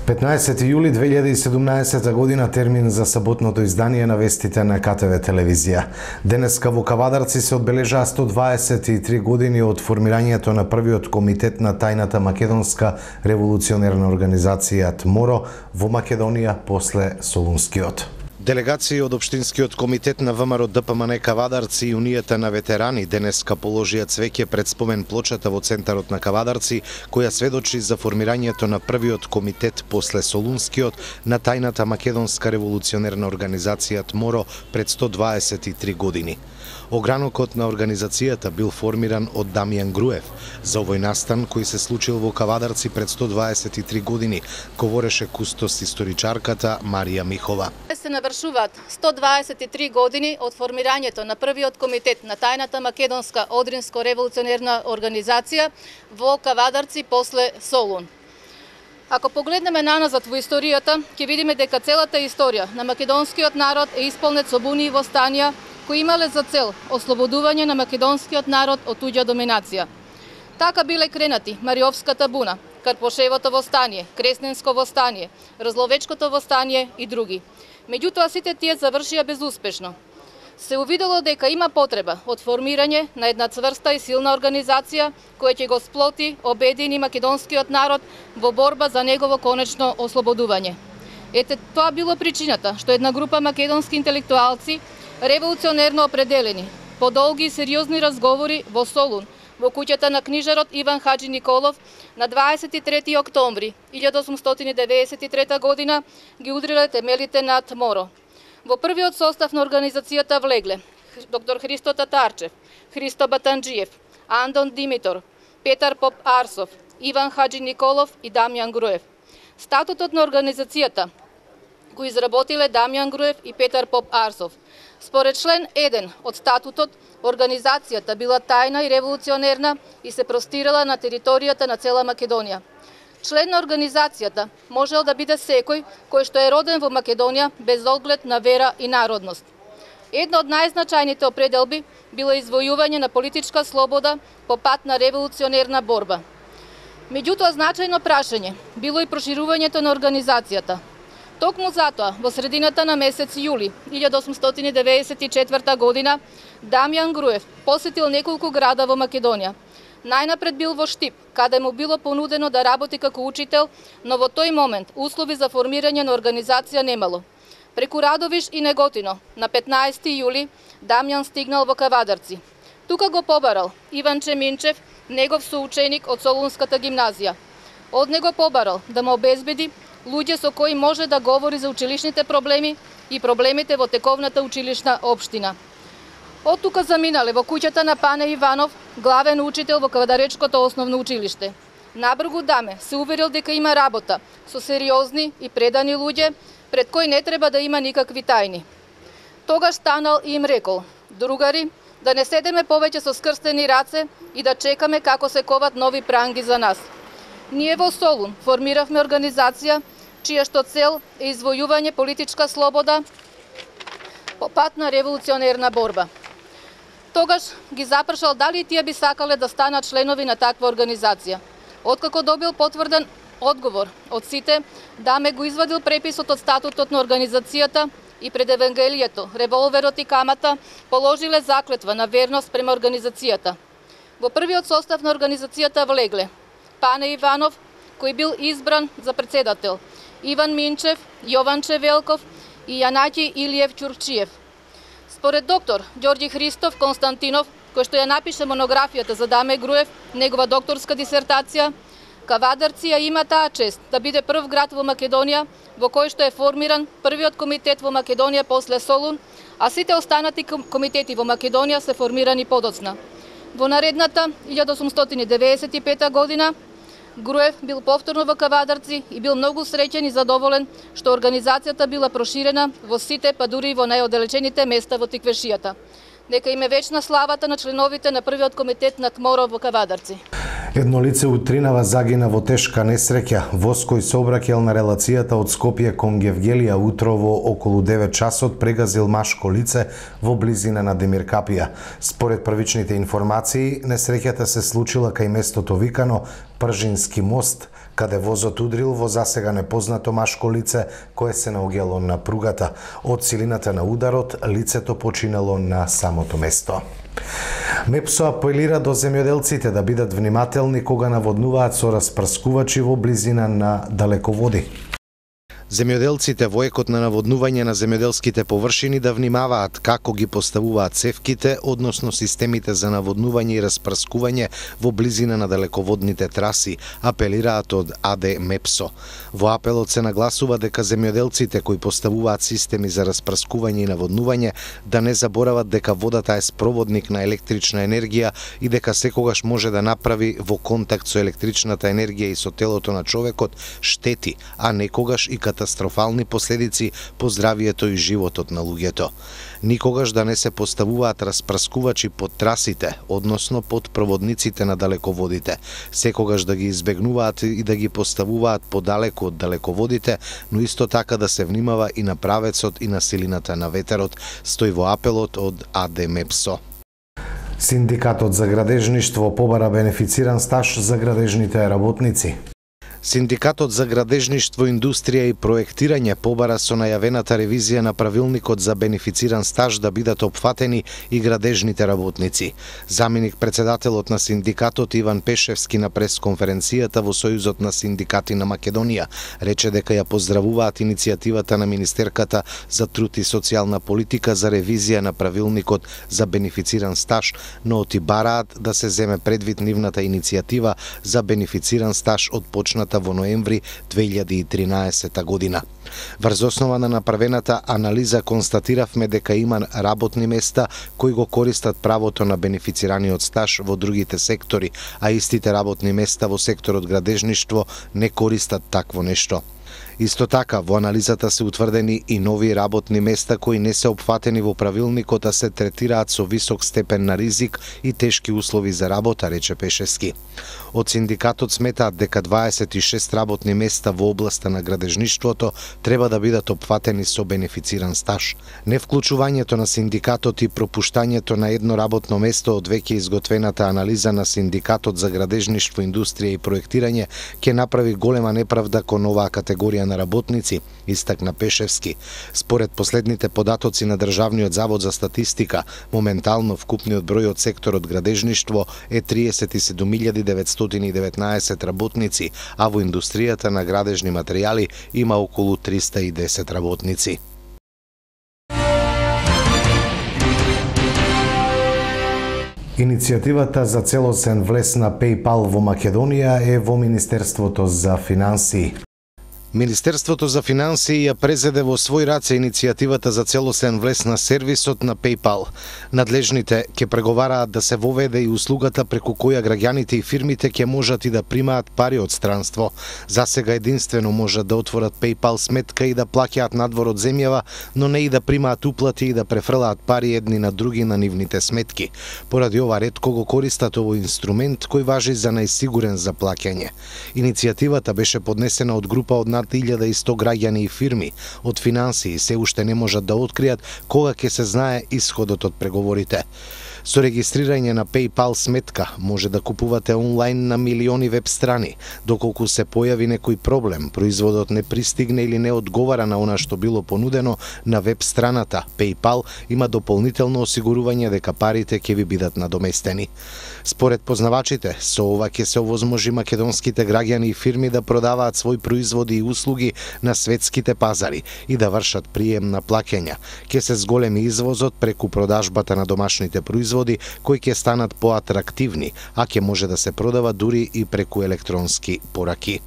15 јули 2017 година термин за саботното издание на вестите на КТВ телевизија. Денеска во Кавадарци се одбележаа 123 години од формирањето на првиот комитет на тајната македонска револуционерна организација ТМОРО во Македонија после Солунскиот. Делегации од Општинскиот комитет на ВМРО ДПМН Кавадарци и Унијата на ветерани денеска положија цвеќе пред спомен плочата во центарот на Кавадарци, која сведочи за формирањето на првиот комитет после Солунскиот на тајната македонска револуционерна организација ТМОРО пред 123 години. Огранокот на организацијата бил формиран од Дамјан Груев. За овој настан, кој се случил во Кавадарци пред 123 години, говореше кустос историчарката Марија Михова. Се навршуваат 123 години од формирањето на првиот комитет на тајната македонска одринско-револуционерна организација во Кавадарци после Солун. Ако погледнеме наназад во историјата, ќе видиме дека целата историја на македонскиот народ е исполнет со буни и востанија кои имале за цел ослободување на македонскиот народ од туѓа доминација. Така биле кренати Мариовската буна, Карпошевото востание, Кресненско востание, Разловечкото востание и други. Меѓутоа сите тие завршија безуспешно. Се увидело дека има потреба од формирање на една цврста и силна организација која ќе го сплоти, обедини македонскиот народ во борба за негово конечно ослободување. Ете тоа било причината што една група македонски интелектуалци револуционерно определени, по долги и сериозни разговори во Солун, во куќата на книжарот Иван Хаджи Николов, на 23 октомври 1893 година ги удриле темелите на ТМОРО. Во првиот состав на организацијата влегле доктор Христо Татарчев, Христо Батанџиев, Андон Димитор, Петар Поп Арсов, Иван Хаджи Николов и Дамјан Груев. Статутот на организацијата го изработиле Дамјан Груев и Петар Поп Арсов. Според член 1 од статутот, организацијата била тајна и револуционерна и се простирала на територијата на цела Македонија. Член на организацијата можел да биде секој кој што е роден во Македонија без оглед на вера и народност. Една од најзначајните определби било извојување на политичка слобода по пат на револуционерна борба. Меѓутоа значајно прашање било и проширувањето на организацијата. Токму затоа, во средината на месец јули 1894 година, Дамјан Груев посетил неколку града во Македонија. Најнапред бил во Штип, каде му било понудено да работи како учител, но во тој момент услови за формирање на организација немало. Преку Радовиш и Неготино, на 15 јули, Дамјан стигнал во Кавадарци. Тука го побарал Иван Чеминчев, негов соученик од Солунската гимназија. Од него побарал да му обезбеди луѓе со кои може да говори за училишните проблеми и проблемите во тековната училишна општина. Од тука заминале во куќата на Пане Иванов, главен учител во Кавадаречкото основно училиште. Набргу даме се уверил дека има работа со сериозни и предани луѓе, пред кои не треба да има никакви тајни. Тогаш станал и им рекол: другари, да не седеме повеќе со скрстени раце и да чекаме како се коват нови пранги за нас. Ние во Солун формиравме организација чија што цел е извојување политичка слобода по пат на револуционерна борба. Тогаш ги запрашал дали тие би сакале да станат членови на таква организација. Откако добил потврден одговор од сите, Даме го извадил преписот од статутот на организацијата и пред Евангелието, револверот и камата положиле заклетва на верност према организацијата. Во првиот состав на организацијата влегле Пане Иванов, кој бил избран за председател, Иван Минчев, Јован Чевелков и Јанаки Илиев Ќурчиев. Според доктор Ѓорѓи Христов Константинов, кој што ја напише монографијата за Даме Груев, негова докторска дисертација, Кавадарци ја има таа чест да биде прв град во Македонија во кој што е формиран првиот комитет во Македонија после Солун, а сите останати комитети во Македонија се формирани подоцна. Во наредната 1895 година Груев бил повторно во Кавадарци и бил многу среќен и задоволен што организацијата била проширена во сите, па дури и во најоделечените места во Тиквешијата. Нека им е вечна славата на членовите на првиот комитет на ТМОРО во Кавадарци. Едно лице утринава загина во тешка несреќа. Воз кој сообраќаел на релацијата од Скопје кон Гевгелија утрово околу 9 часот прегазил машко лице во близина на Демиркапија. Според првичните информации, несреќата се случила кај местото викано Пржински мост, каде возот удрил во засега непознато машко лице кое се наоѓало на пругата. Од силината на ударот, лицето починало на самото место. МЕПСО апелира до земјоделците да бидат внимателни кога наводнуваат со распрскувачи во близина на далеководи. Земјоделците во екот на наводнување на земјоделските површини да внимаваат како ги поставуваат цевките, односно системите за наводнување и распрскување во близина на далеководните траси, апелираат од АД МЕПСО. Во апелот се нагласува дека земјоделците кои поставуваат системи за распрскување и наводнување да не заборават дека водата е спроводник на електрична енергија и дека секогаш може да направи во контакт со електричната енергија и со телото на човекот штети, а некогаш и катастрофални последици по здравието и животот на луѓето. Никогаш да не се поставуваат распрскувачи под трасите, односно под проводниците на далеководите. Секогаш да ги избегнуваат и да ги поставуваат подалеку од далеководите, но исто така да се внимава и на правецот и на силината на ветерот, стои во апелот од АД МЕПСО. Синдикатот за градежништво побара бенефициран стаж за градежните работници. Синдикатот за градежништво, индустрија и проектирање побара со најавената ревизија на правилникот за бенефициран стаж да бидат опфатени и градежните работници. Заменик председателот на синдикатот Иван Пешевски на пресконференцијата во Сојузот на синдикати на Македонија рече дека ја поздравуваат иницијативата на Министерката за труд и социјална политика за ревизија на правилникот за бенефициран стаж, но оти бараат да се земе предвид нивната иницијатива за бенефициран стаж од почната во ноември 2013 година. Врз основа на направената анализа констатиравме дека има работни места кои го користат правото на бенефицираниот стаж во другите сектори, а истите работни места во секторот градежништво не користат такво нешто. Исто така, во анализата се утврдени и нови работни места кои не се опфатени во правилникот, а се третираат со висок степен на ризик и тешки услови за работа, рече Пешевски. Од синдикатот сметаат дека 26 работни места во областа на градежништвото треба да бидат опфатени со бенефициран стаж. Невклучувањето на синдикатот и пропуштањето на едно работно место од веќе изготвената анализа на синдикатот за градежништво, индустрија и проектирање ќе направи голема неправда кон оваа категорија на работници, истакна Пешевски. Според последните податоци на Државниот завод за статистика, моментално вкупниот број од секторот градежништво е 37.919 работници, а во индустријата на градежни материјали има околу 310 работници. Иницијативата за целосен влез на PayPal во Македонија е во Министерството за финансии. Министерството за финансии ја презеде во свој раце иницијативата за целосен влез на сервисот на PayPal. Надлежните ќе преговараат да се воведе и услугата преку која граѓаните и фирмите ќе можат и да примаат пари од странство. Засега единствено можат да отворат PayPal сметка и да плаќаат надвор од земјава, но не и да примаат уплати и да префрлаат пари едни на други на нивните сметки. Поради ова ретко го користат овој инструмент кој важи за најсигурен за плаќање. Иницијативата беше поднесена од група од над 1100 граѓани и фирми. Од финансии се уште не можат да откријат кога ќе се знае исходот од преговорите. Со регистрирање на PayPal сметка може да купувате онлайн на милиони веб страни. Доколку се појави некој проблем, производот не пристигне или не одговара на она што било понудено на веб страната, PayPal има дополнително осигурување дека парите ќе ви бидат надоместени. Според познавачите, со ова ќе се овозможи македонските граѓани и фирми да продаваат своји производи и услуги на светските пазари и да вршат прием на плаќања. Ќе се зголеми извозот преку продажбата на домашните производи кои ќе станат поатрактивни, а ќе може да се продава дури и преку електронски пораки.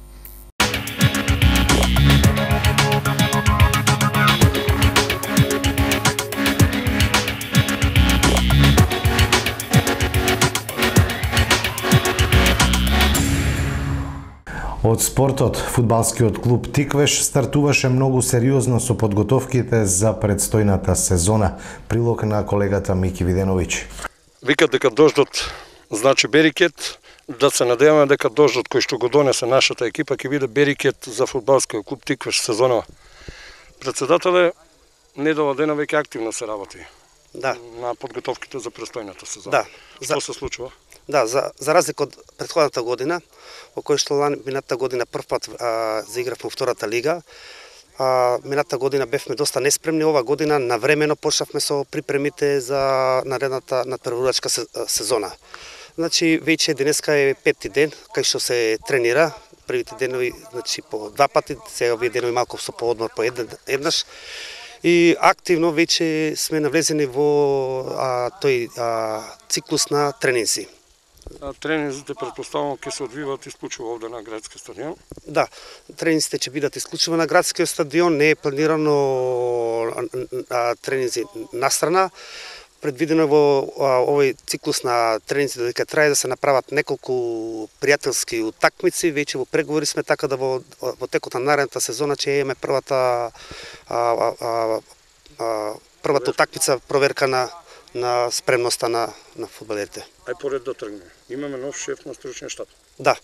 Од спортот, фудбалскиот клуб Тиквеш стартуваше многу сериозно со подготовките за предстојната сезона. Прилог на колегата Мики Виденовиќ. Викат дека дождот значи берикет, да се надеваме дека дождот кој што го донесе нашата екипа ќе биде берикет за фудбалскиот клуб Тиквеш сезонова. Председателе, недела дена веќе активно се работи. Да. На подготовките за престојната сезона. Да. Што се случува? Да, за разлика од претходната година, во кој што минатата година првпат заигравме во втората лига, минатата година бевме доста неспремни, ова година навремено почнавме со припремите за наредната надпреварувачка сезона. Значи, веќе денеска е 5-ти ден, кај што се тренира, првите денови значи, по 2 пати, сега овие денови малку со поодмор по еднаш. И активно веќе сме навлезени во тој циклус на тренинзи. Тренинзите предпоставувам ќе се одвиваат исклучиво овде на градски стадион? Да, тренинзите ќе бидат исклучиво на градскиот стадион, не е планирано тренинзи настрана. Предвидено во овој циклус на тренинзи дека трае да се направат неколку пријателски утакмици, веќе во преговори сме така да во текот на наредната сезона ќе имаме првата утакмица проверка на спремноста на фудбалерите. Ај поред да тргне. Имаме нов шеф на стручниот штаб. Да.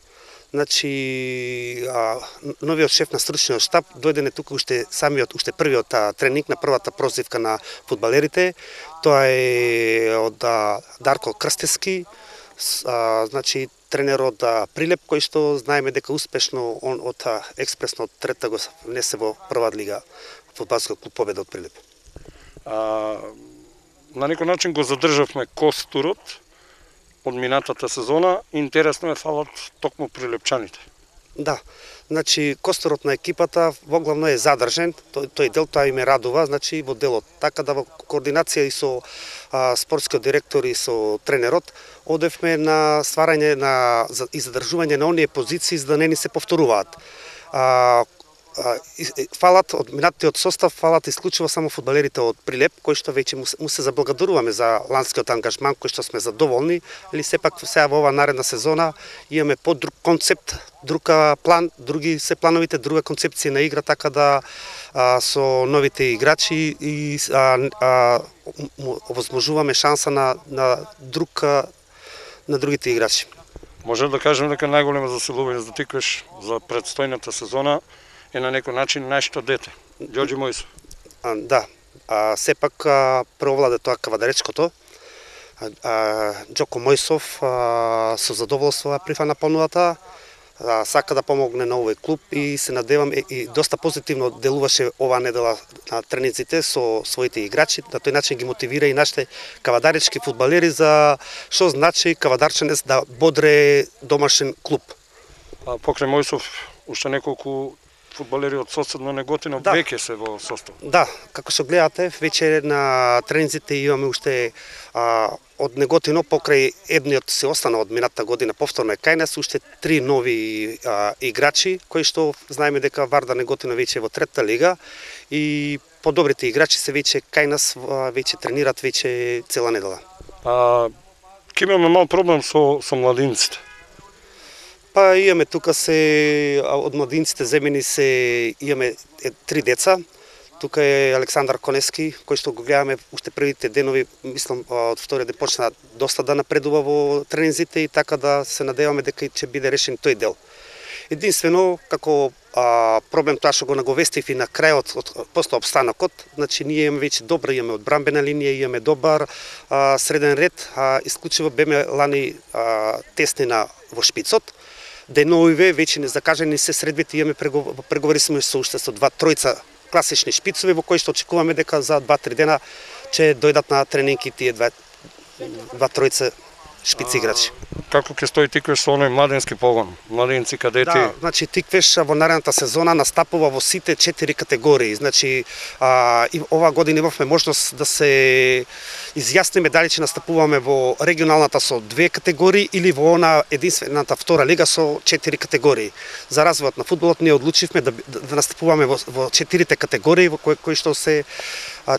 Значи, новиот шеф на стручниот штаб дојде тука уште првиот тренинг на првата прозивка на фудбалерите. Тоа е од Дарко Крстевски, значи тренер од Прилеп, кој што знаеме дека успешно он од експресно од трета го внесе во прва лига фудбалскиот клуб Победа од Прилеп. На некој начин го задржавме костурот од минатата сезона. Интересно е фалат токму прилепчаните. Да, значи костурот на екипата воглавно е задржен, тој дел тоа им радува, значи во делот. Така да во координација и со спортскиот директор и со тренерот одевме на стварање и задржување на оние позиции за да не ни се повторуваат. Фалат од минатиот состав, фалат исклучиво само фудбалерите од Прилеп, кои што веќе му се заблагодаруваме за ланскиот ангажман, кој што сме задоволни, или сепак сега во ова наредна сезона имаме подруг концепт, друг план, други се плановите, друга концепција на игра, така да со новите играчи и овозможуваме шанса на другите играчи. Може да кажем дека најголемо заселување за Тиквеш за предстојната сезона е на некој начин нашето дете, Ѓорѓи Мојсов. Да, сепак преовладе тоа кавадаречкото. Ѓоко Мојсов со задоволство прифана понудата, сака да помогне на овој клуб и се надевам и доста позитивно делуваше оваа недела на тренинзите со своите играчи, на тој начин ги мотивира и нашите кавадаречки фудбалери за што значи кавадарченец да бодре домашен клуб. Покрај Мојсов уште неколку фудбалери од соседно Неготино веќе се во состав. Да, како што гледате, веќе на тренинзите имаме уште од Неготино покрај едниот се остана од минатата година повторно е кај нас уште 3 нови играчи кои што знаеме дека Варда Неготино веќе е во трета лига и подобрите играчи се веќе кај нас, веќе тренират веќе цела недела. Ќе имаме мал проблем со младинците. Имаме тука од младинците земени имаме 3 деца. Тука е Александар Конески, кој што го гледаме уште првите денови, мислам од вториот ден почна доста да напредува во тренинзите и така да се надеваме дека ќе биде решен тој дел. Единствено, како проблем тоа што го наговестив и на крајот после обстанокот, значи ние имаме веќе добра, имаме одбранбена линија, имаме добар среден ред, исклучиво беме лани теснина во шпицот. Деновиве веќе не закажени се средбите, имаме преговори сме со уште со 2-3 класични шпицови во кои што очекуваме дека за 2-3 дена ќе дојдат на тренинги тие 2-3 шпици играчи. Како ќе стои Тиквеш со оној младенски погон, младенци, кадети? Да, значи Тиквеш во наредната сезона настапува во сите 4 категории. Значи и оваа година имавме можност да се изјасниме дали ќе настапуваме во регионалната со 2 категории или во она единствената втора лига со 4 категории. За развојот на фудбалот ние одлучивме да настапуваме во 4 категории во кои што ќе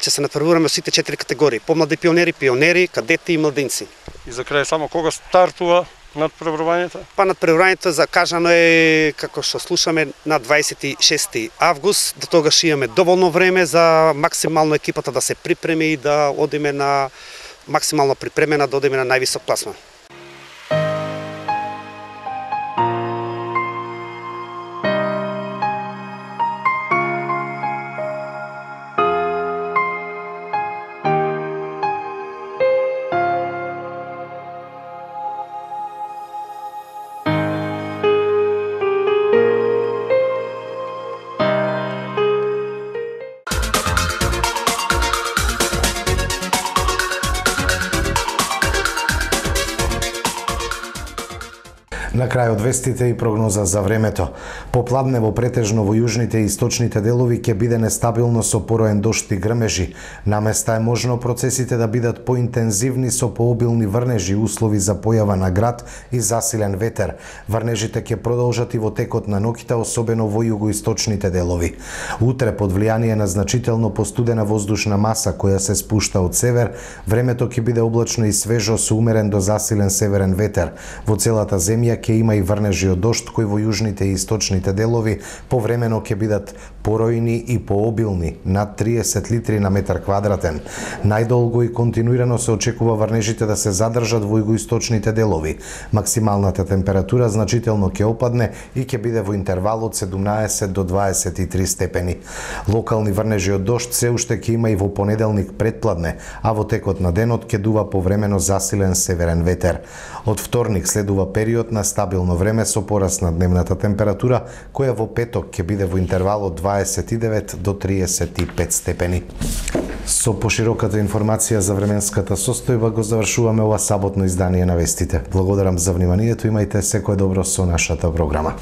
се надпреваруваме сите 4 категории: помлади пионери, кадети и младинци. И за крај само кога стартува надпреварувањето? Надпреварувањето закажано е, како што слушаме, на 26 август. До тогаш имаме доволно време за максимално екипата да се припреми и да одиме на максимално припремена, да одиме на највисок класман. На крајот вестите и прогноза за времето. Попладнево претежно во јужните и источните делови ќе биде нестабилно со пороен дожд и грмежи. Наместа е можно процесите да бидат поинтензивни со пообилни врнежи, услови за појава на град и засилен ветер. Врнежите ќе продолжат и во текот на ноќта, особено во југоисточните делови. Утре, под влијание на значително постудена воздушна маса која се спушта од север, времето ќе биде облачно и свежо со умерен до засилен северен ветер. Во целата земја ќе има и врнежи од дожд кои во јужните и источните делови повремено ќе бидат поројни и пообилни, над 30 литри на метар квадратен. Најдолго и континуирано се очекува врнежите да се задржат во југоисточните делови. Максималната температура значително ќе опадне и ќе биде во интервал од 17 до 23 степени. Локални врнежи од дожд се уште ќе има и во понеделник предпладне, а во текот на денот ќе дува повремено засилен северен ветер. Од вторник следува период на стабилно време со пораст на дневната температура, која во петок ќе биде во интервал од 29 до 35 степени. Со пошироката информација за временската состојба го завршуваме ова саботно издание на вестите. Благодарам за вниманието, имајте секое добро со нашата програма.